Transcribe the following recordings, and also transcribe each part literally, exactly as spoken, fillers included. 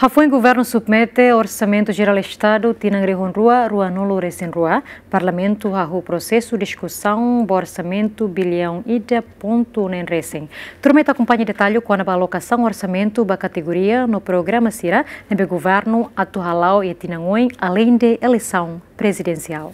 Hafoin Governu submete Orsamentu Jerál Estadu tinan rihun rua ruanulu resin rua, Parlamentu hahú prosesu diskusaun ba orsamentu biliaun ida pontu neen resin. Turma ita akompaña detallu kona-ba alokasaun orsamentu ba kategoria no programa sira ne'ebé Governu atu hala'o iha tinan oin, aleinde eleisaun prezidensiál.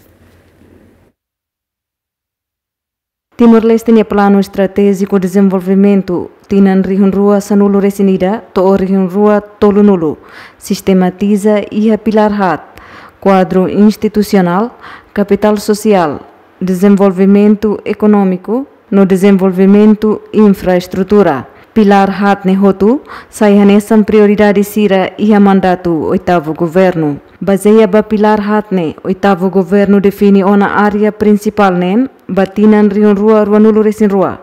Timor-Leste nia Planu Estratéjiku Dezenvolvimentu tinan rihun rua sanulu resin ida to'o rihun rua tolunulu sistematiza iha pilár haat: kuadru institusionál, kapitál sosiál, dezenvolvimentu ekonómiku no dezenvolvimentu infraestrutura. Pilár haat ne'e hotu sai hanesan prioridade sira iha mandatu oitavu Governu. Bazeia ba pilár haat ne'e, oitavu Governu define ona área prinsipál neen ba tinan rihun rua ruanulu resin rua,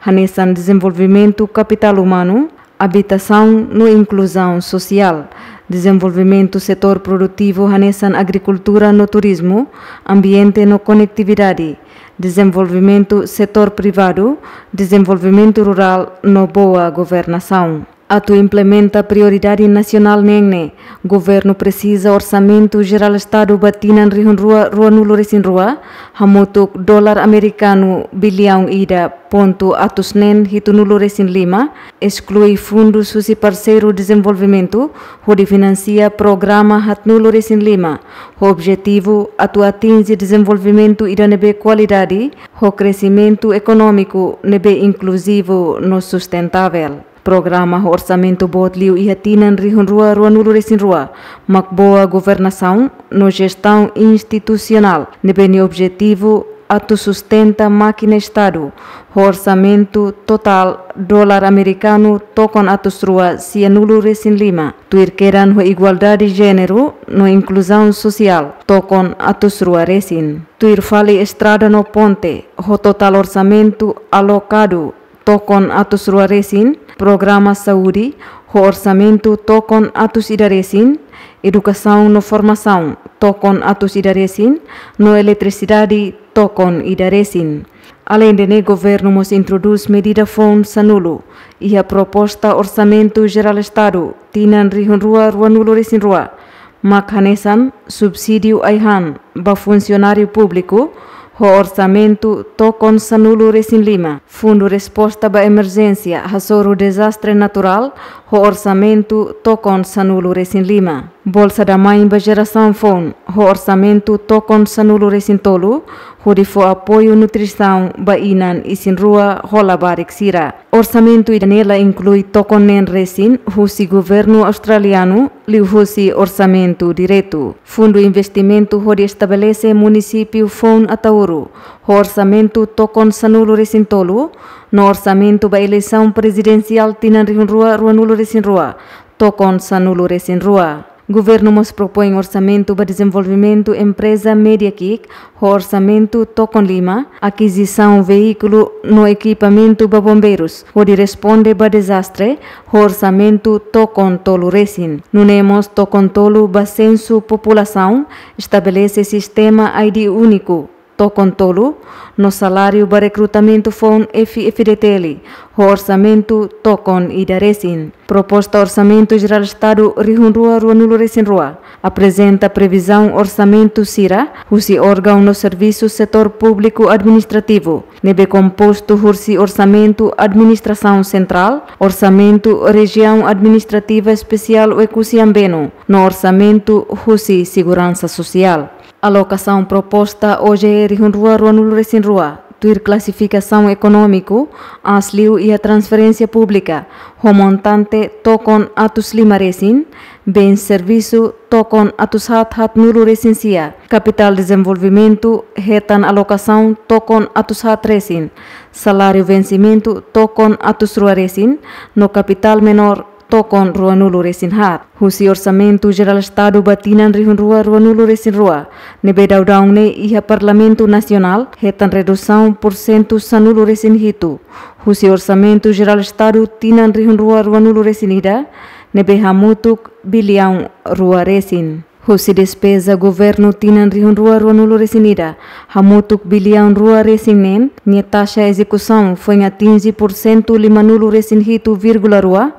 hanesan dezenvolvimentu kapitál umanu, abitasaun no inkluzaun sosiál, dezenvolvimentu setór produtivu hanesan agrikultura no turizmu, ambiente no konetividade, dezenvolvimentu setór privadu, dezenvolvimentu rurál no boa governasaun. Atu implementa prioridade nasionál neen ne'e, Governu presiza Orsamentu Jerál Estadu ba tinan rihun rua ruanulu resin rua hamutuk dolar amerikanu biliaun ida pontu atus neen hitunulu resin lima, esklui fundus husi parseiru dezenvolvimentu, hodi finansia programa haatnulu resin lima, ho objetivu atu atinje dezenvolvimentu ida ne'ebé kualidade, ho kresimentu ekonómiku ne'ebé inkluzivu no sustentável. Programa ho orsamentu boot liu iha tinan rihun rua ruanulu resin rua mak boa governasaun no jestaun institusionál, ne'ebé nia objetivu atu sustenta mákina Estadu ho orsamentu totál dolar amerikanu tokon atus rua sianulu resin lima, tuir kedan ho igualdade jéneru no inkluzaun sosiál tokon atus rua resin. Tuir fali estrada no ponte, ho totál orsamentu alokadu tokon atus rua resin, programa saúde ho orsamentu tokon atus ida resin, edukasaun no formasaun tokon atus ida resin, no eletrisidade tokon ida resin. Aleinde ne'e, Governu mós introdús medida foun sanulu iha proposta Orsamentu Jerál Estadu tinan rihun rua ruanulu resin rua, mak hanesan subsídiu ai-han ba funsionáriu públiku ho orsamentu tokon sanulu resin lima, Fundu Resposta ba Emerjénsia hasoru dezastre naturál ho orsamentu tokon sanulu resin lima, Bolsa da Mãe ba jerasaun foun ho orsamentu tokon sanulu resin tolu, hodi fó apoiu nutrisaun ba inan isin-rua ho labarik sira. Orsamentu ida-ne'e la inklui tokon neen resin husi Governu australianu liuhusi orsamentu diretu. Fundu investimentu hodi estabelese munisípiu foun Ataúro ho orsamentu tokon sanulu resin tolu, no orsamentu ba eleisaun prezidensiál tinan rihun rua ruanulu resin rua tokon sanulu resin rua. Governu mós propoin orsamentu ba dezenvolvimentu empreza Mediakick ho orsamentu tokon lima, akizisaun veíkulu no ekipamentu ba bombeirus hodi responde ba dezastre ho orsamentu tokon tolu resin. Nune'e mós tokon tolu ba sensu populasaun, estabelese sistema I D úniku tokon tolu, no saláriu ba rekrutamentu foun F F D T L ho orsamentu tokon ida resin. Proposta Orsamentu Jerál Estadu rihun rua ruanulu resin rua aprezenta previzaun orsamentu sira husi órgaun no servisu setór públiku administrativu, ne'ebé kompostu husi orsamentu administrasaun sentrál, orsamentu Rejiaun Administrativa Espesiál Oekusi Ambeno, no orsamentu husi seguransa sosiál. Alokasaun proposta O J E rihun rua ruanulu resin rua, tuir klasifikasaun ekonómiku, aas liu iha transferénsia públika, ho montante tokon atus lima resin, bens servisu tokon atus haat haatnulu resin sia, kapitál dezenvolvimentu hetan alokasaun tokon atus haat resin, saláriu vensimentu tokon atus rua resin, no kapitál menór tokon ruanulu resin haat. Husi Orsamentu Jerál Estadu ba tinan rihun rua ruanulu resin rua, ne'ebé daudaun ne'e iha Parlamentu Nasionál, hetan redusaun pursentu sanulu resin hitu. Husi Orsamentu Jerál Estadu tinan rihun rua ruanulu resin ida, ne'ebé hamutuk biliaun rua resin. Husi despeza Governu tinan rihun rua ruanulu resin ida, hamutuk biliaun rua resin neen, nia taxa ezekusaun foin atinje pursentu limanulu resin hitu vírgula rua,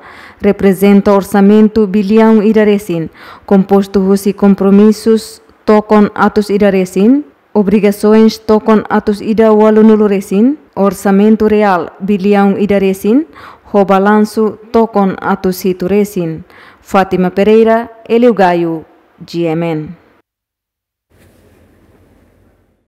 reprezenta orsamentu biliaun ida resin, kompostu husi kompromisus tokon atus ida resin, obrigasoens tokon atus ida ualunulu resin, orsamentu reál biliaun ida resin, ho balansu tokon atus hitu resin. Fátima Pereira, Elio Gaio, G M N.